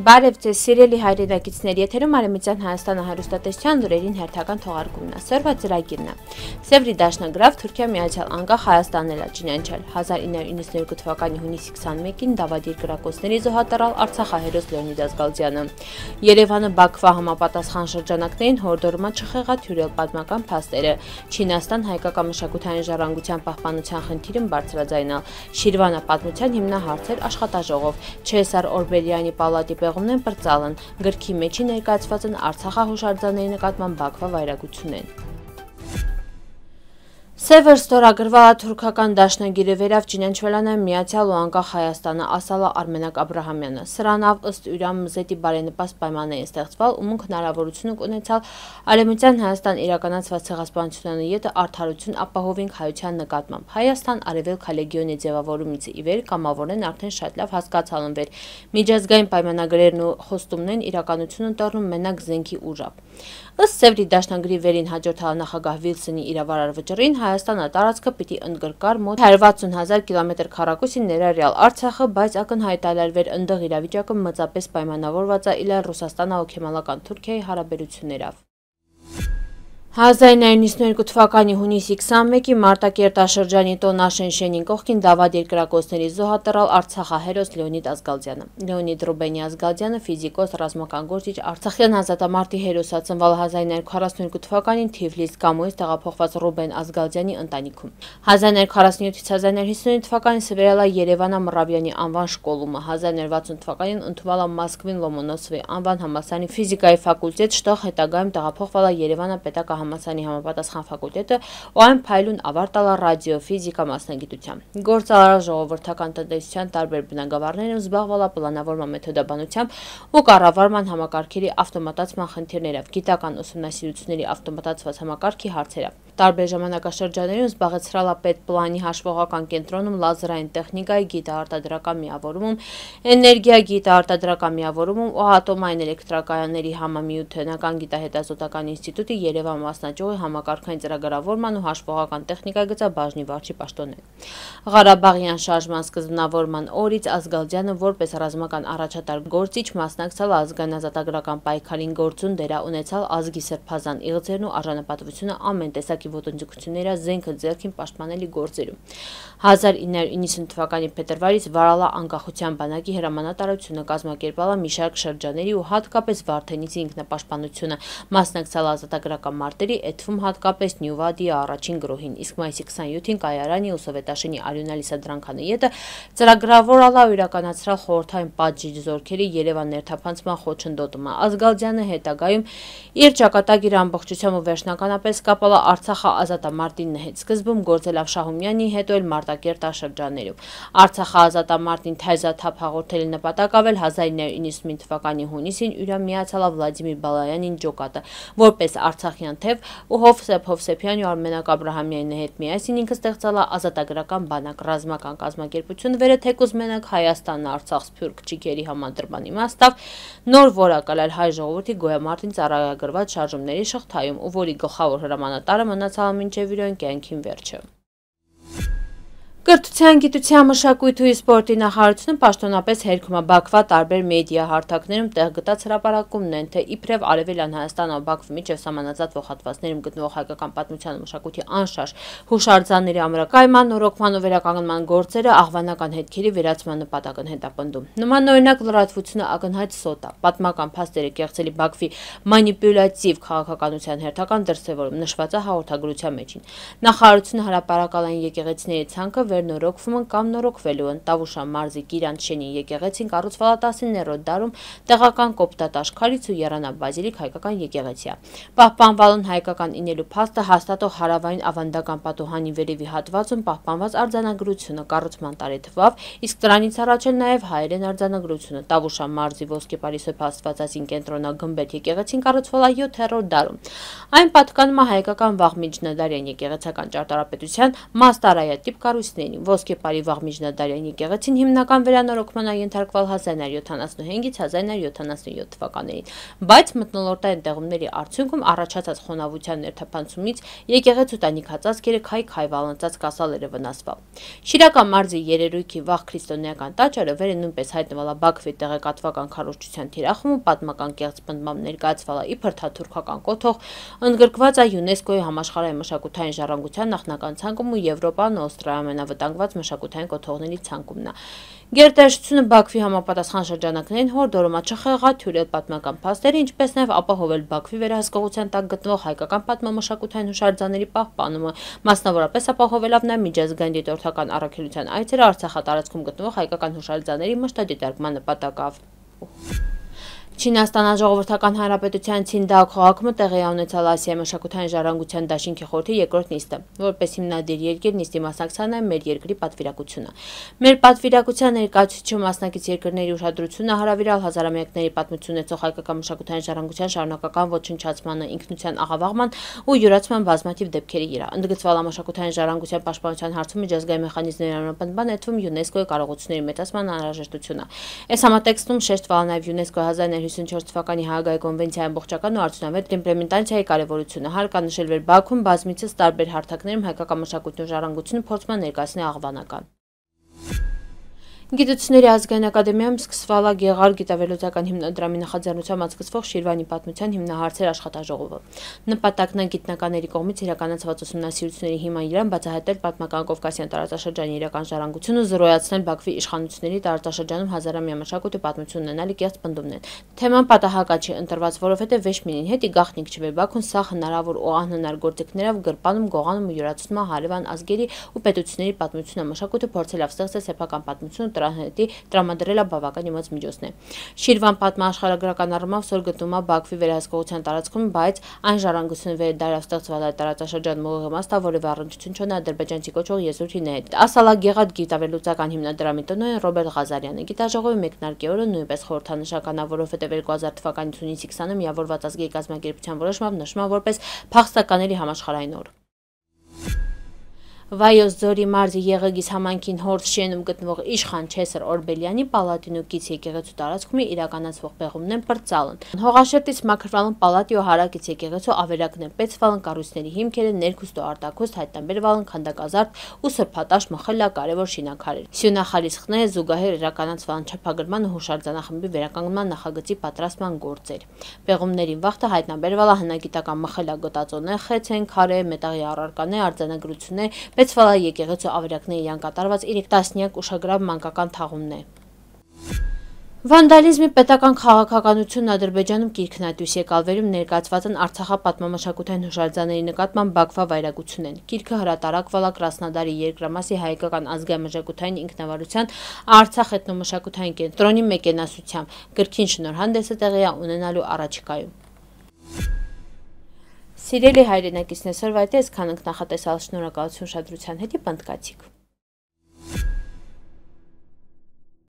Բարև ձեզ սիրելի հայրենակիցներ, եթերում Արևմտյան Հայաստանը հեռուստատեսության լուրերին հերթական թողարկումն է։ Սերվա ծրագիրն է։ Սևրի դաշնագրավ Թուրքիա Միացյալ Անկախ Հայաստանն էլ ճանաչել 1992 թվականի հունիսի 21-ին դավադիր կրակոցների զոհատարալ Արցախահերոս Լեոնիդ Ազգալդյանը։ Երևանը Բաքվա համապատասխան շրջանակներին հորդորում է չխեղաթյուրել պատմական փաստերը։ Չինաստան հայկական մշակութային ժառանգության պահպանության խնդիրն բարձրաձայնալ։ Շիրվանը պատմության հիմնահարցեր աշխատաժողով։ Չեսար Օրբելյանի պալատի պեղումն են պրծալն, գրքի մեջի ներկայացված են Արցախահուշարձանների նկատմամբ Բաքվա վայրագությունն։ Սևր ստորագրվալա թուրքական դաշնագիրը վերավ ճանաչվելան է Միացյալ ու Անկախ Հայաստանը, ասալա Արմենակ Աբրահամյանը։ Սրանավ ըստ յուրամ մզետի բարենպաստ պայմաններին ստեղծվել, ումոնք հնարավորություն ունեցալ Արևմտյան Հայաստան իրականացված ցեղասպանությունը յետը արդարություն ապահովենք հայության նկատմամբ։ Հայաստան արևելք լեգիոնի ձևավորումից ի վեր կամավորեն արդեն շատ լավ հասկացալ ընվեր։ Միջազգային պայմանագրերն ու խոստումներն իրականություն ընտրում մենակ զենքի ուժով։ Ըստ Սևրի դաշնագրի վերին հաջորդալ նախագահ Վիլսոնի իրավարար վճռին Հայաստանը տարածքը պիտի ընդգրկար մոտ 160,000 կմ²-ի ներառյալ Արցախը, բայց ակնհայտալարվեր ընդդեղ իրավիճակը մեծապես պայմանավորված է իլար Ռուսաստանա-Քեմալական Թուրքիայի հարաբերություններով։ 1992 թվականի հունիսի 21-ի Մարտակերտաշրջանի Տոնաշեն շենին կողքին դավադիր կրակոցների զոհատարալ Արցախահերոս Լեոնիդ Ազգալդյանը։ Լեոնիդ Ռուբենի Ազգալդյանը ֆիզիկոս, ռազմական գործիչ, Արցախյան ազատամարտի հերոսը, ծնվել 1942 թվականին Թիֆլիս Կամուից տեղափոխված Ռուբեն Ազգալդյանի ընտանիքում։ 1947-ից 1959 թվականին սվերել է Երևանա Մռավյանի անվան շկոլումը, 1960 թվականին ընդունվել է Մոսկվին Լոմոնոսովի անվան համալսարանի ֆիզիկայի ֆակուլտետ, շտեղ հետագայում տեղափոխվել է Երևանա պետական համալսարանի համապատասխան ֆակուլտետը ու այն փայլուն ավարտել է ռադիոֆիզիկա մասնագիտությամբ։ Գործարար ժողովրդական տնտեսության տարբեր բնագավառներում զբաղվել է պլանավորման մեթոդաբանությամբ ու կառավարման համակարգերի ավտոմատացման խնդիրներով, գիտական ուսումնասիրությունների ավտոմատացված համակարգի հարցերով։ Տարբեր ժամանակաշրջաններում զբաղեցրել է պետպլանի հաշվողական կենտրոնում լազերային տեխնիկայի գիտաարտադրական միավորումում, էներգիա գիտաարտադրական միավորումում ու ատոմային էլեկտրակայանների համամիութենական գիտահետազոտական ինստիտուտի Երևան մասնաճյուղի համակարգային ծրագրավորման ու հաշվողական տեխնիկայի գծաբաժնի վարչի պաշտոններ։ Ղարաբաղյան շարժման սկզբնավորման օրից Ազգալդյանը որպես ռազմական առաջատար գործիչ մասնակցել է ազգանազատագրական պայքարին, գործուն դեր ունեցալ ազգի սրբազան իղձերն ու արժանապատվությունը ամեն տեսակի ոտնձգությունների զենքը ձեռքին պաշտպանելի գործերում։ 1990 թվականի փետրվարից վարալա անկախության բանակի հրամանատարությունը, կազմակերպել է մի շարք շրջանների ու հատկապես Վարդենիցի ինքնապաշտպանությունը, մասնակցել ազատագրական մարտերի, էթվում հատկապես Նյուվադիի առաջին գրոհին, իսկ մայիսի 27-ին Կայարանի ու Սովետաշենի Արյունալի Սադրանքանը յետը ծրագրավորել ու իրականացրել խորհրդային պատժիչ զորքերի Երևան ներթափանցման խոչընդոտումը։ Ազգալդյանը հետագայում իր ճակատագիրը ամբողջությամբ ու վերջնականապես կապել է Արցախը ազատամարտին հետ, սկզբում գործել Շահումյանի, հետո էլ Մարտակերտաշրջաններում։ Արցախը ազատամարտին թայզաթափ հաղորդելի նպատակ ավել 1995 թվականի հունիսին յուրամ միացյալ Վլադիմիր Բալայանին ջոկատը, որպես Արցախյան թև ու Հովսեփ Հովսեփյանի ու Արմենակ Աբրահամյանի հետ միասին ինքը ստեղծել է ազատագրական բանակ, ռազմական կազմակերպություն վերը թեկուզ մենակ Հայաստանն Արցախ սփյուռք ճիգերի համադրման իմաստով նոր որակալ հայ ժողովրդի գոյամարտին ծառայագրված շարժումների շղթայում, ու որի գլխավոր հրամանատարը մնացալ մինչև իր կյանքին վերջը։ Կրթության, գիտության, մշակույթի ու սպորտի նախարարությունը պաշտոնապես հերքում է Բաքվա տարբեր մեդիա հարթակներում տեղ գտած հրապարակումն են, թե իբրև Արևելյան Հայաստանը ու Բաքվի միջև սահմանազատվող հատվածներում գտնվող հայկական պատմության ու մշակույթի անշարժ հուշարձանների ամրակայման, նորոգման ու վերականգնման գործերը աղվանական հետքերի վերացման նպատակ են հետապնդում։ Նմանօրինակ լրատվությունը ակնհայտ սոտ է, պատմական փաստերը կեղծելի Բաքվի մանիպուլյատիվ քաղաքականության հերթական դրսևորում նշված է հաղորդագրության մեջին։ Նախարարությունը հրապարակալ են եկեղեցիների ցանկը վերնորոգվում են կամ նորոգվելու են։ Տավուշա մարզի Կիրանտ շենի եկեղեցին կառուցվել է 19-րդ դարում տեղական կոպտատ աշխարհից ու Եռանա բազիլիկ հայկական եկեղեցի է։ Պահպանվել են հայկական ինելու փաստը հաստատող հարավային ավանդական պատուհանի վերևի հատվածում պահպանված արձանագրությունը կառուցման տարեթվով, իսկ դրանից առաջ էլ նաև հայերեն արձանագրությունը։ Տավուշա մարզի Ոսկեպարի Սեփ Աստվածածին կենտրոնագմբեթ եկեղեցին կառուցվել է 7-րդ դարում։ Այն պատկանում է հայկական վաղ միջնադարյան եկեղեցական ճարտարապետության մաստարայատիպ կառույցների Գյուղատնտեսություններին։ Ոսկե Պարի վաղ միջնադարյան եկեղեցին հիմնական վերանորոգման է ենթարկվել 1975-ից 1977 թվականներին, բայց մթնոլորտային տեղումների արդյունքում առաջացած խոնավության ներթափանցումից եկեղեցու տանիքածածկերը քայ-քայ կասալերը վնասվել։ Շիրակա մարզի երերույքի վաղ քրիստոնեական տաճարը վերը նույնպես հայտնվել է Բաքվի տեղեկատվական քարոզչության թիրախում ու պատմական կեղծ պնդմամբ ներկայացվել է իբր թաթուրքական կոթող, ընդգրկված է ՅՈՒՆԵՍԿՕ-ի համաշխարհային մշակութային ժառանգության նախնական ցանկում ու Եվրոպան ու Ավստրիայի ամենավտանգված մշակութային կոթողների ցանկումն է։ Գերտերչությունը Բաքվի համապատասխան շրջանակներին հորդորում է չխեղաթյուրել պատմական փաստերը, ինչպես նաև ապահովել Բաքվի վերահսկողության տակ գտնվող հայկական պատմամշակութային հուշարձանների պահպանումը, մասնավորապես ապահովելով նաև միջազգային դիտորդական առաքելության այցերը Արցախատարածքում գտնվող հայկական հուշարձանների մշտադիտարկման նպատակով։ Չինաստան Ժողովրդական Հանրապետության Ցինդաո քաղաքում տեղի ունեցել Ասիայի մշակութային ժառանգության դաշինքի խորհրդի երկրորդ նիստը, որպես հիմնադիր երկիր նիստի մասնակցան մեր երկրի պատվիրակությունը։ Մեր պատվիրակության ներկայացուցիչ մասնակից երկրների ուշադրությունը հրավիրալ հազարամյակների պատմություն ունեցող հայկական մշակութային ժառանգության շարունակական ոչնչացմանը, ինքնության աղավաղման ու յուրացման բազմաթիվ դեպքերի վրա։ Ընդգծվել է մշակութային ժառանգության պաշտպանության հարցում միջազգային մեխանիզմների անվնման ներդրում ՅՈՒՆԵՍԿՕ-ի կարողությունների մեծացման անհրաժեշտությունը։ Այս համատեքստում շեշտվել է նաև ՅՈՒՆԵՍԿՕ-ի 1954 թվականի Հաագայի կոնվենցիայի ամբողջական ու արդյունավետ իմպլեմենտացիայի կարևորությունը, հարկանշել վեր Բաքվում բազմիցս տարբեր հարթակներում հայկական մշակույթն ու ժառանգությունը փորձում են ներկայացնել աղավանական։ Գիտությունների ազգային ակադեմիայում սկսվել է Գեղարդ գիտավերլուծական հիմնադրամի նախաձեռնությամբ անցկացվող Շիրվանի պատմության հիմնահարցեր աշխատաժողովը։ Նպատակն է գիտնականների կողմից իրականացված ուսումնասիրությունների հիման վրա բացահայտել պատմական Կովկասյան տարածաշրջանի իրական ժառանգությունը, զրոյացնել Բաքվի իշխանությունների տարածաշրջանում հազարամյա մշակույթ ու պատմություն ունենալի կեղծ պնդումներ։ Թեման պատահական չի ընտրված, որովհետև Վեշմինին հետ գաղտնիք չվեր Բաքուն սա հնարավոր ու անհնար գործիքներով գրպանում, գողանում ու յուրացնում հարևան ազգերի ու պետությունների պատմությունը, մշակույթը փորձելով ստեղծել սեփական պատմություն հետի տրամադրելը բավական իմաց միջոցն է։ Շիրվան պատմաշխարհագրական առումով սոր գտնվում է Բաքվի վերահսկողության տարածքում, բայց այն ժառանգությունը վերդարավ ստեղծվել է տարածաշրջանում ուղղամաստ, որևէ առնչություն չունի ադրբեջանցի կոչվող եզրույթի հետ։ Ասալ է Գեղարդ գիտավերլուծական հիմնադրամի տնօրեն Ռոբերտ Ղազարյանը։ Գիտաժողովի մեկնարկի օրը նույնպես խորհրդանշական է, որովհետև 2000 թվականի հունիսի 20-ը միավորված ազգերի կազմակերպության որոշմամբ նշվում է որպես փախստականների համաշխարհային օր։ Վայոց ձորի մարզի Եղեգիս համայնքին Հորս շենում գտնվող Իշխան Չեսր Օրբելյանի պալատին ու կից եկեղեցու տարածքում իրականացվող պեղումն են պրծալն։ Հողաշերտից մաքրվալն պալատի ու հարակից եկեղեցու ավերակն են պեցվալն կառույցների հիմքերը ներքուստ ու արտաքուստ հայտնաբերվալն քանդակազարդ ու սրբատաշ մխելա կարևոր շինաքարեր։ Սյունախալիսխները զուգահեռ իրականացվալն չափագրման ու հուշարձանախմբի վերականգնման նախագծի պատրաստման գործեր։ Պեղումներին վաղտը հայտնաբերվել է հնագիտական մխելա գոտածոներ, խեցեն, քարե, մետաղի առարկաներ, արձանագրություններ, Պեցվալա եկեղեցու ավերակների իրան կատարված 3 տասնյակ ուշագրավ մանկական թաղումներ։ Վանդալիզմի պետական քաղաքականությունն Ադրբեջանում կիրքն է դույս եկալ վերում ներկայացված են Արցախապատմամշակութային հուշարձանների նկատմամբ Բաքվա վայրագություն են։ Կիրքը հրատարակվել է Կրասնոդարի երկրամասի հայկական ազգային մշակութային ինքնավարության Արցախ էթնոմշակութային կենտրոնի մեկենասությամբ։ Գրքին շնորհանդեսը տեղի է ունենալու առաջիկայում։ Սիրելի հայրենակիցներ, այսօրվա այդ է, այսքան ենք նախատեսալ, շնորհակալություն ուշադրության հետ, պնդկացիք։